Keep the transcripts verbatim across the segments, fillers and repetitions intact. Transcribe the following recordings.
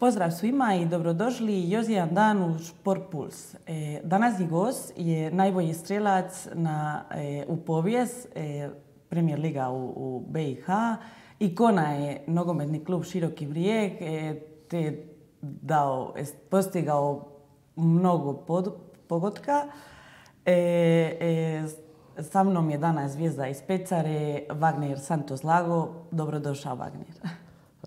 Pozdrav svima i dobrodošli još jedan dan u Sport Puls. E, današnji gost je najbolji strelac na, e, u povijest e, Premier Liga u, u B i H. Ikona je nogometni klub Široki Brijeg, e, te dao, postigao mnogo pod, pogotka. E, e, sa mnom je danas zvijezda iz Pecare, Wagner Santos Lago. Dobrodošao, Wagner.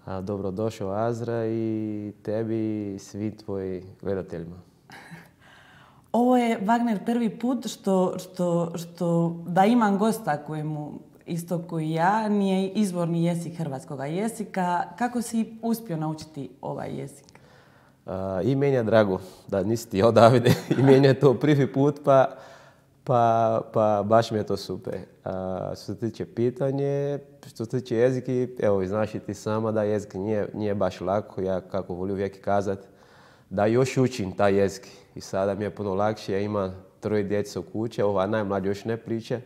A, dobrodošao, Azra, i tebi i svim tvojim gledateljima. Ovo je, Wagner, prvi put što, što, što da imam gosta kojemu, isto koji ja, nije izvorni jezik hrvatskoga jezika. Kako si uspio naučiti ovaj jezik? A, I meni je drago da nisi ti odavde. I meni je to prvi put, pa, pa, pa baš mi je to super. A, što se tiče pitanje, što se tiče jeziki, evo, znaš i ti sama da jezik nije, nije baš lako. Ja, kako volim uvijek kazati, da još učim taj jezik. I sada mi je puno lakše. Ja imam troje djece u kući, ova najmlađa još ne priča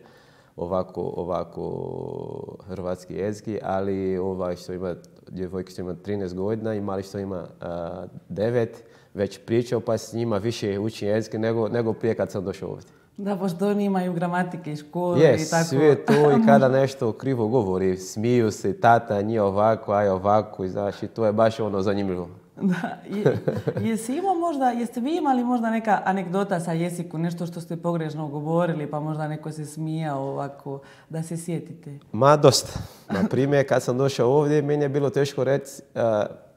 ovako, ovako hrvatski jezik, ali ovaj što ima, djevojka što ima trinaest godina i mali što ima uh, devet, već pričao, pa s njima više učim jezik nego, nego prije kad sam došao ovdje. Da, pošto oni imaju gramatike i škole yes, i tako. Sve to, i kada nešto krivo govori, smiju se, tata nije ovako, aj ovako, i znaš, i to je baš ono zanimljivo. Da, je, jesi imao možda, jeste vi imali možda neka anegdota sa jeziku, nešto što ste pogrešno govorili, pa možda neko se smijao ovako, da se sjetite? Ma, dosta. Na primjer, kad sam došao ovdje, meni je bilo teško reći, uh,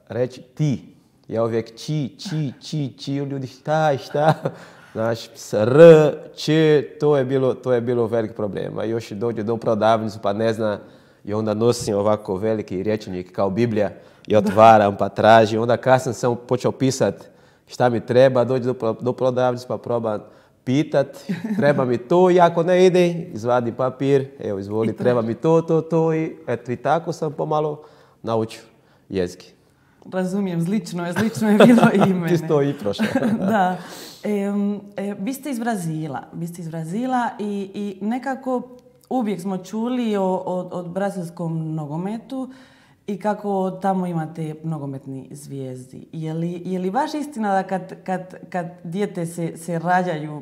reći ti. Ja uvijek či, či, či, či, ljudi šta, šta. Znaš, s r, č, to je bilo, to je bilo velik problem. A još dođe do prodavnicu pa ne zna, i onda nosim ovako veliki rječnik kao Biblija i otvaram pa tražim. Onda kasnije sam počeo pisati šta mi treba, dođe do, do prodavnice pa probam pitat, treba mi to, i ako ne ide, izvadim papir, evo izvoli, treba mi to, to, to, i eto, i tako sam pomalo naučio jezik. Razumijem, slično je, slično je bilo i mene. Ti si to i prošao. Da. E, e, vi ste iz Brazila, vi ste iz Brazila i, i nekako uvijek smo čuli o, o, o brazilskom nogometu i kako tamo imate nogometni zvijezdi. Je li, je li baš istina da kad, kad, kad dijete se, se rađaju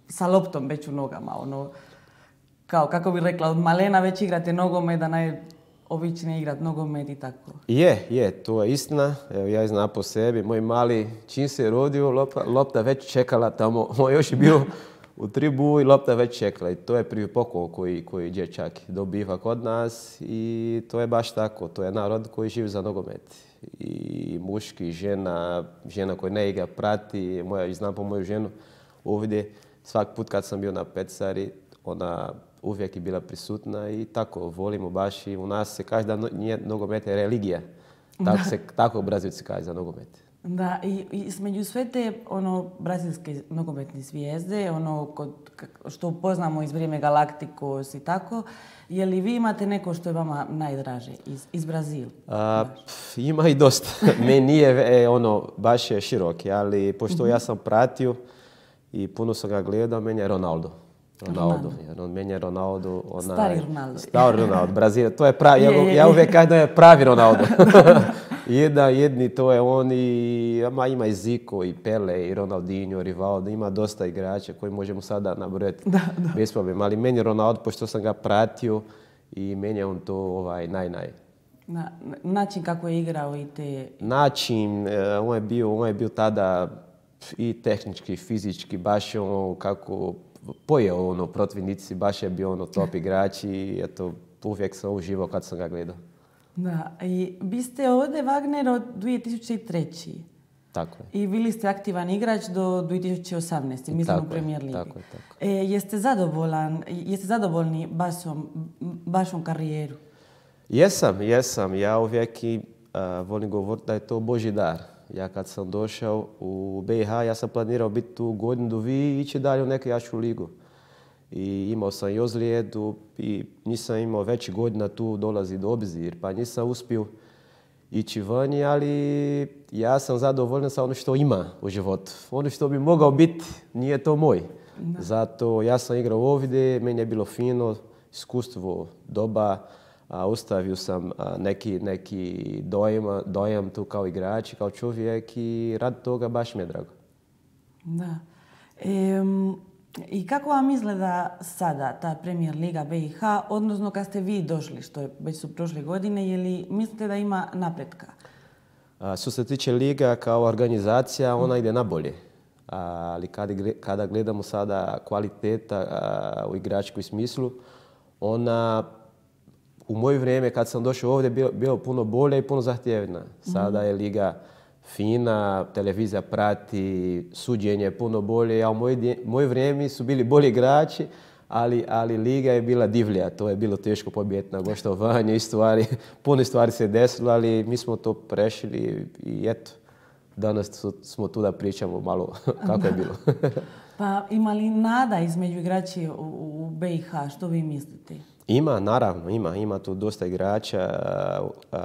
sa loptom već u nogama, ono, kao kako bi rekla, od malena već igrate nogomet, da naj običnije igrati nogomet i tako? Je, je, to je istina. Evo, ja znam po sebi. Moj mali, čim se rodio, lopta, lopta već čekala tamo. On još je bio u tribu i lopta već čekala. I to je prvi poklon koji, koji dječak dobiva kod nas. I to je baš tako. To je narod koji živi za nogomet. I muški, žena, žena koja ne igra, prati. Moja, znam po moju ženu ovdje. Svaki put kad sam bio na Pecari, ona uvijek je bila prisutna i tako, volimo baš, i u nas se kaže da nije nogomet je religija. Tako, se, tako Brazilci kaže za nogomet. Da, i, i između sve te ono, brazilske nogometne zvijezde, ono kod, što poznamo iz vrijeme Galacticos i tako, je li vi imate neko što je vama najdraže iz, iz Brazila? A, pf, ima i dosta. Meni nije e, ono, baš je široki, ali pošto mm-hmm. ja sam pratio i puno sam ga gledao, meni je Ronaldo. Ronaldo. Ronaldo. Meni je Ronaldo. Ona, stari Ronaldo. Stari Ronaldo. Brazil. To je pravi. Je, je, je. Ja uvijek kažem da je pravi Ronaldo. Jedna, jedni to je on, i ma, ima i Zico, i Pele, i Ronaldinho, Rivaldo. Ima dosta igrača koji možemo sada nabrojati bez problema. Ali meni je Ronaldo, pošto sam ga pratio, i meni je on to ovaj, naj, naj. Na, način kako je igrao i te... Način, on je bio, on je bio tada i tehnički, i fizički, baš ono kako pojeo ono protivnici, baš je bio ono top igrač, i eto, uvijek sam uživao kad sam ga gledao. Da, i vi ste ovdje, Wagner, od dvije tisuće treće. Tako je. I bili ste aktivan igrač do dvije tisuće osamnaeste. mislim u Premier Ligi. Tako je, tako. E, jeste zadovoljan, jeste zadovoljni bašom, bašom karijeru? Jesam, jesam. Ja uvijek i, uh, volim govoriti da je to Božji dar. Ja kad sam došao u B i H, ja sam planirao biti tu godinu do vi i ići dalje u neku jaču ligu. I imao sam i ozlijedu i nisam imao veći godina tu dolazi do obzir, pa nisam uspio ići vani, ali ja sam zadovoljan sa ono što ima u životu. Ono što bi mogao biti, nije to moj. Da. Zato ja sam igrao ovdje, meni je bilo fino, iskustvo doba, a, ostavio sam a, neki, neki dojam, dojam tu kao igrač, kao čovjek i rad toga baš mi je drago. Da. Em, I kako vam izgleda sada ta Premier Liga B i H, odnosno kad ste vi došli, što je već su prošle godine, je li mislite da ima napretka? A, što se tiče liga kao organizacija, ona ide na bolje. Ali kada gledamo sada kvaliteta a, u igračkom smislu, ona u moje vrijeme kad sam došao ovdje bio, bio puno bolje i puno zahtjevna. Sada je liga fina, televizija prati, suđenje je puno bolje, a u moje, moje vrijeme su bili bolji igrači, ali, ali liga je bila divlja. To je bilo teško pobijediti na gostovanju i stvari, puno stvari se desilo, ali mi smo to prešli i eto, danas smo tu da pričamo malo kako je bilo. Pa ima li nada između igrači u, u B i H, što vi mislite? Ima, naravno, ima. Ima tu dosta igrača.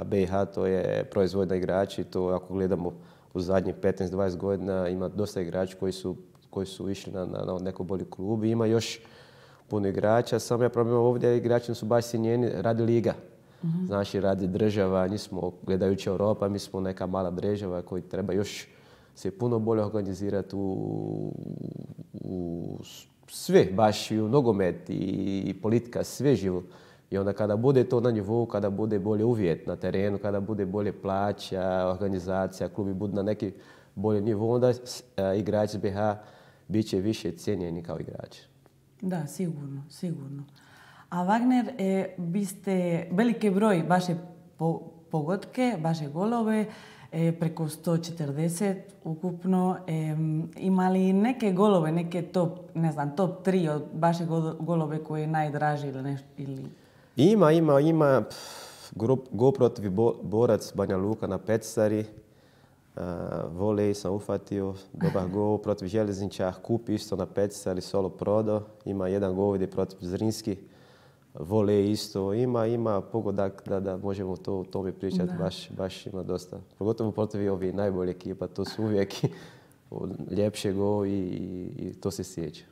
B i H to je proizvodna igrači i to ako gledamo u zadnjih petnaest do dvadeset godina ima dosta igrača koji su, koji su išli na, na, na neko bolji klub. Ima još puno igrača, samo je problem ovdje, igrači su baš sinjeni radi liga. Mm-hmm. Znači, radi država, nismo gledajući Europa, mi smo neka mala država koji treba još se puno bolje organizirati u, u sve, baš i u nogomet i politika, sve živo. I onda kada bude to na nivou, kada bude bolje uvjet na terenu, kada bude bolje plaća, organizacija, klubi budu na neki bolji nivou, onda igrači B i H bit će više cijenjeni kao igrači. Da, sigurno, sigurno. A Wagner, e, vi ste veliki broj vaše po, pogodke, vaše golove, e, preko sto četrdeset ukupno. E, ima li neke golove, neke top, ne znam, top tri od vaše golove koje je najdraži ili nešto? Ili... Ima, ima, ima. Go protiv Borac Banja Luka na Petsari. Uh, volej sam ufatio, dobar gol protiv Željezniča, kup isto na Petsari, solo prodo. Ima jedan gol ovdje protiv Zrinski. Volej isto, ima, ima pogodak da, da možemo to o tome pričati, baš, baš ima dosta. Pogotovo protiv ovih najbolje ekipa, to su uvijek ljepše go i, i to se sjeća.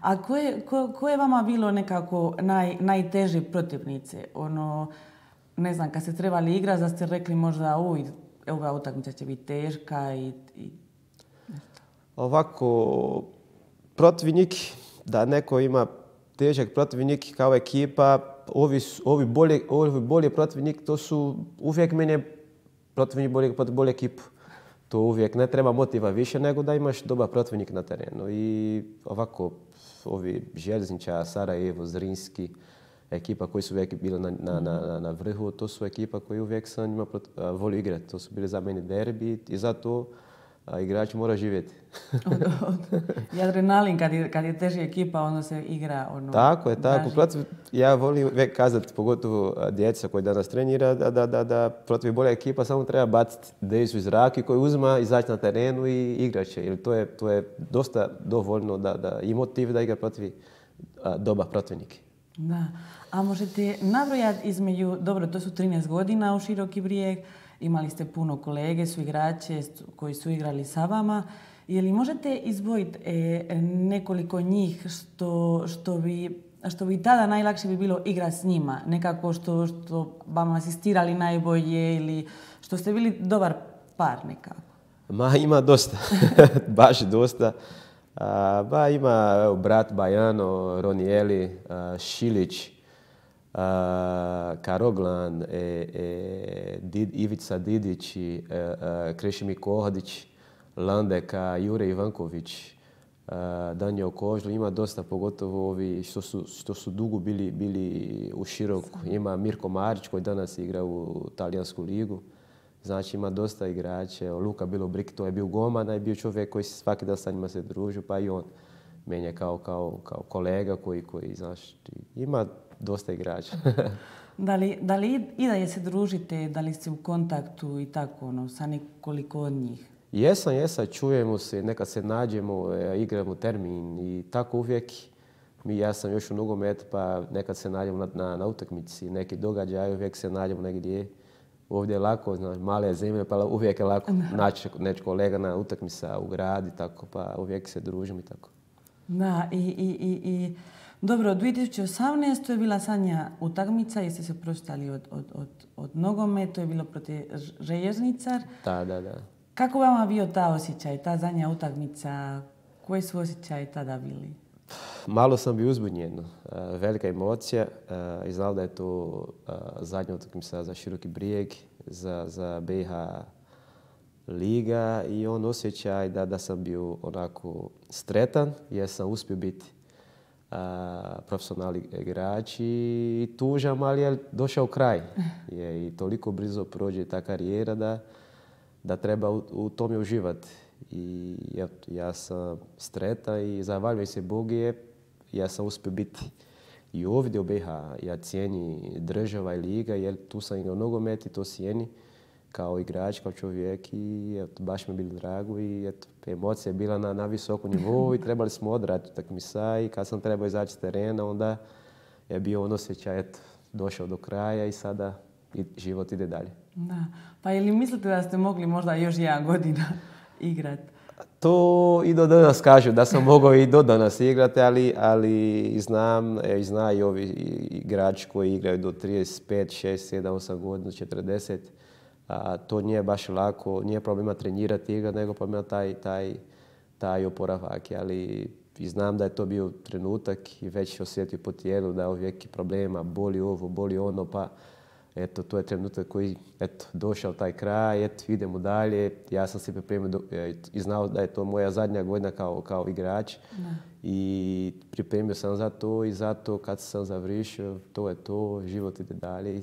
A koje, ko, ko je vama bilo nekako naj, najteže protivnice? Ono, ne znam, kad ste trebali igrati, da ste rekli možda uj, ova utakmica će biti teška i... i... Ovako, protivnik, da neko ima težak protivnik kao ekipa, ovi, ovi, bolje, ovi bolje protivnik, to su uvijek meni protivnik bolje protiv bolje ekipu. To uvijek ne treba motiva više nego da imaš dobar protivnik na terenu. I ovako, ovi Željezniča, Sarajevo, Zrinski, ekipa koji su uvijek bili na, na, na, na vrhu, to su ekipa koji uvijek sam njima volio igrati. To su bili za meni derbi i zato a, igrač mora živjeti. od, od, I adrenalin, kad je, kad je teži ekipa, onda se igra ono... Tako je, tako. Protiv, ja volim uvijek kazati, pogotovo djeca koji danas trenira, da, da, da, da protiv bolja ekipa samo treba baciti dejsu iz zraka koji uzma, izaći na terenu i igrat će. Jer to je, to je dosta dovoljno da, da, i motiv da igra protiv a, dobar protivnik. Da. A možete nabrojati između, dobro, to su trinaest godina u Široki Brijeg, imali ste puno kolege, su igrače koji su igrali sa vama. Je li možete izdvojiti e, nekoliko njih što, što, bi, što bi tada najlakše bi bilo igrati s njima? Nekako što, što vam asistirali najbolje ili što ste bili dobar par nekako? Ma ima dosta, baš dosta. A, ba, ima evo, brat Bajano, Ronijeli, a, Šilić, a, Karoglan, e, e, Did, Ivica Didić, e, e, Krešimir Kohodić, Landeka, Jure Ivanković, uh, Danijel Kožl, ima dosta, pogotovo ovi što su, što su dugo bili, bili u Široku. Ima Mirko Marić koji danas igra u talijansku ligu. Znači ima dosta igrača. Luka Bilobrik, to je bio golman, je bio čovjek koji svaki dan sa njima se družio, pa i on menja kao, kao, kao kolega koji, koji znaš, ima dosta igrača. Da li, da li i dalje se družite, da li ste u kontaktu i tako, ono, sa nekoliko od njih? Jesam, jesam, čujemo se, nekad se nađemo, igramo termin i tako uvijek. Mi, ja sam još u nogometu, pa nekad se nađemo na, na, na utakmici, neki događaj, uvijek se nađemo negdje. Ovdje je lako, znaš, male je zemlje, pa uvijek je lako naći neći kolega na utakmica u gradi, tako, pa uvijek se družimo i tako. Da, i, i, i, i Dobro, dvije tisuće osamnaeste. je bila zadnja utakmica, jeste se oprostali od, od, od, od nogometa, to je bilo protiv Željezničar. Da, da, da. Kako vama bio ta osjećaj, ta zadnja utakmica? Koji su osjećaji tada bili? Malo sam bio uzbudnjen. Uh, velika emocija uh, i znao da je to uh, zadnja utakmica za Široki Brijeg, za, za B i H liga i on osjećaj da, da sam bio onako stretan jer sam uspio biti uh, profesionalni igrač i tužan, ali je došao kraj. Je, i toliko brzo prođe ta karijera da, da treba u, u tome uživati. I ja, ja sam sretan i zahvaljujem se Bogu je ja sam uspio biti i ovdje u B i H. Ja cijeni država i liga jer tu sam igrao nogomet i to cijeni kao igrač, kao čovjek i eto, baš mi je bilo drago i eto, emocija je bila na, na visokom nivou i trebali smo odraditi utakmica i kad sam trebao izaći s terena onda je bio on osjećaj, eto, došao do kraja i sada i život ide dalje. Da. Pa ili mislite da ste mogli možda još jedan godina igrati? To i do danas kažu da sam mogao i do danas igrati, ali, ali znam, e, znaju i ovi igrači koji igraju do trideset pet, šest, sedam, osam godina, četrdeset. A, to nije baš lako, nije problema trenirati igrati, nego problema taj, taj, taj oporavak. Ali i znam da je to bio trenutak i već osjetio po tijelu da je uvijek problema, boli ovo, boli ono, pa eto, to je trenutak koji, eto, došao taj kraj, eto, idemo dalje. Ja sam se pripremio do, i znao da je to moja zadnja godina kao, kao igrač. Da. I pripremio sam za to i zato kad sam završio, to je to, život ide dalje.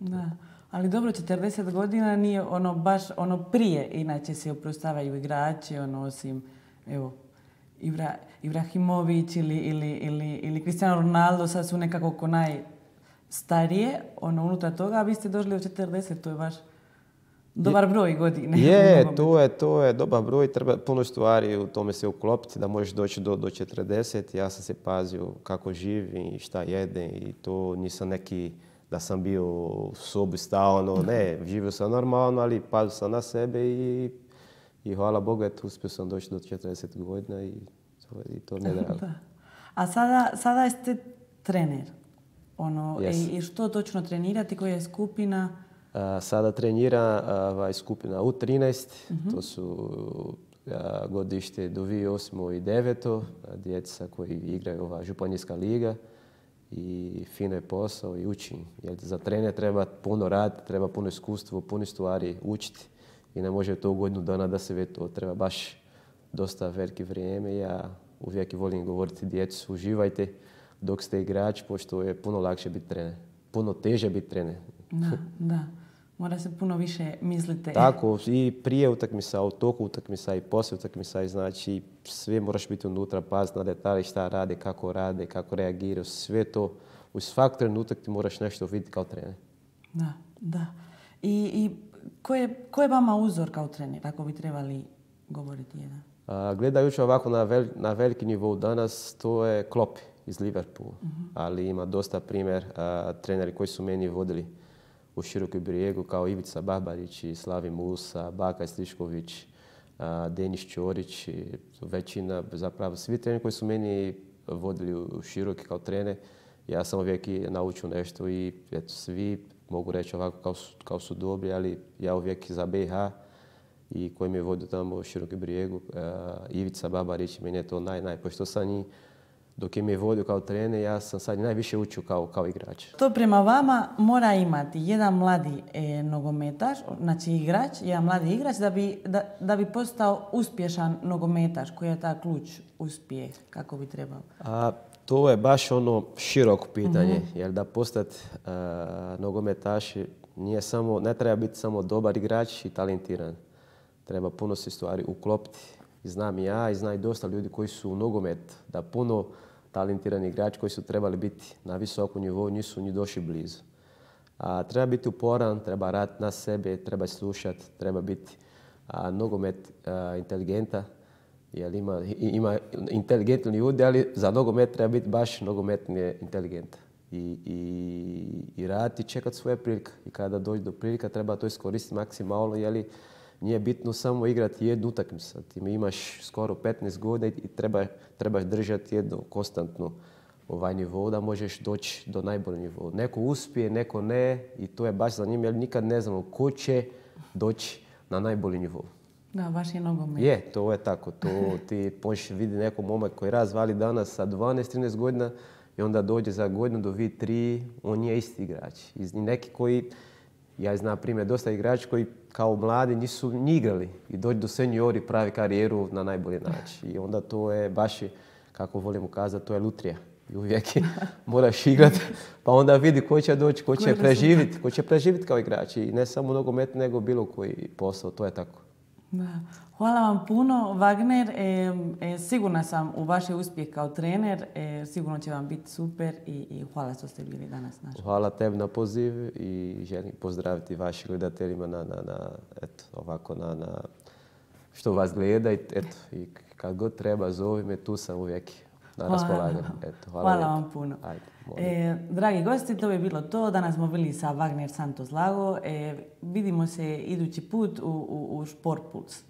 Da. Ali dobro, četrdeset godina nije ono baš ono prije, inače se oprostavaju igrači, ono osim, evo, Ibra, Ibrahimović ili, ili, ili, ili Cristiano Ronaldo, sad su nekako ko najstarije, ono unutar toga, a vi ste došli u četrdeset, to je baš dobar broj godine. Je, to je, to je dobar broj, treba puno stvari u tome se uklopiti da možeš doći do, do četrdeset. Ja sam se pazio kako živim i šta jedem i to nisam neki da sam bio u sobi stalno, ne, živio sam normalno, ali pazio sam na sebe i, i hvala Bogu, eto, uspio sam doći do četrdeset godina i to, i to mi je drago. A sada, sada ste trener. Ono, yes. i, I što točno trenirati, koja je skupina? A, sada trenira ovaj, skupina U trinaest, uh-huh. To su a, godište do dvije tisuće osme i devete djeca koji igraju ova županijska liga. I fino je posao i učim. Jer za trener treba puno raditi, treba puno iskustvo, puno stvari učiti. I ne može to u godinu dana da se vidi to. Treba baš dosta velike vrijeme. Ja uvijek volim govoriti djecu, uživajte dok ste igrač, pošto je puno lakše biti trener. Puno teže biti trener. Da, da. Mora se puno više misliti. Tako, i prije utakmica, u toku utakmica i poslije utakmica. Znači, sve moraš biti unutra, paziti na detalje, šta rade, kako rade, kako reagiraju. Sve to, u svak trenutak ti moraš nešto vidjeti kao trener. Da, da. I, i ko, je, ko je vama uzor kao trener, ako bi trebali govoriti jedan? A, gledajući ovako na, vel, na veliki nivou danas, to je Klopp iz Liverpoola. Uh-huh. Ali ima dosta primjer a, treneri koji su meni vodili u Širokom Brijegu, kao Ivica Babarić, Slavi Musa, Baka Slišković, Denis Ćorić, većina, zapravo svi treneri koji su meni vodili u Široki kao trener, ja sam uvijek naučio nešto i eto, svi mogu reći ovako kao su, kao su dobri, ali ja uvijek za B i H i koji mi je vodio tamo u Širokom Brijegu, Ivica Babarić, meni je to naj, naj, pošto sam njih dok je me vodio kao trener, ja sam sad najviše učio kao, kao igrač. To prema vama mora imati jedan mladi e, nogometaš, znači igrač, jedan mladi igrač, da bi, da, da bi postao uspješan nogometaš. Koji je ta ključ uspjeh, kako bi trebao? A, to je baš ono široko pitanje, uh-huh. jer da postati uh, nogometaš nije samo, ne treba biti samo dobar igrač i talentiran. Treba puno se stvari uklopiti. Znam i ja i zna i dosta ljudi koji su u nogomet, da puno talentirani igrači koji su trebali biti na visokom nivou nisu ni došli blizu. A, treba biti uporan, treba raditi na sebe, treba slušati, treba biti a, nogomet a, inteligenta. Jer ima, ima inteligentni ljudi, ali za nogomet treba biti baš nogometni inteligent. I, i, i raditi i čekati svoje prilike. I kada dođe do prilika treba to iskoristiti maksimalno, jer nije bitno samo igrati jednu utakmicu. Ti imaš skoro petnaest godina i treba, trebaš držati jednu konstantnu ovaj nivo, da možeš doći do najboljeg nivo. Neko uspije, neko ne i to je baš zanimljivo jer nikad ne znamo ko će doći na najbolji nivo. Da, baš je nogomet. Je, to je tako. To ti možeš vidjeti nekog momak koji razvali danas sa dvanaest trinaest godina i onda dođe za godinu do vi tri, on je isti igrač. I neki koji, ja znam primjer, dosta igrači koji kao mladi nisu ni igrali i dođu do seniori pravi karijeru na najbolji način. I onda to je baš, kako volim ukazati, to je lutrija. I uvijek moraš igrati, pa onda vidi ko će doći, ko će preživjeti, ko će preživjeti kao igrač. I ne samo nogomet, nego bilo koji posao, to je tako. Da. Hvala vam puno, Wagner. E, e, sigurna sam u vaš uspjeh kao trener. E, sigurno će vam biti super i, i hvala što ste bili danas naš. Hvala tebi na poziv i želim pozdraviti vašim gledateljima na, na, na, eto, ovako na, na što vas gleda i, eto, i kad god treba zovi me, tu sam uvijek na raspolaganju. Eto, hvala hvala vam puno. Ajde, e, dragi gosti, to bi bilo to. Danas smo bili sa Wagner Santos Lago. E, vidimo se idući put u, u, u Sport Puls.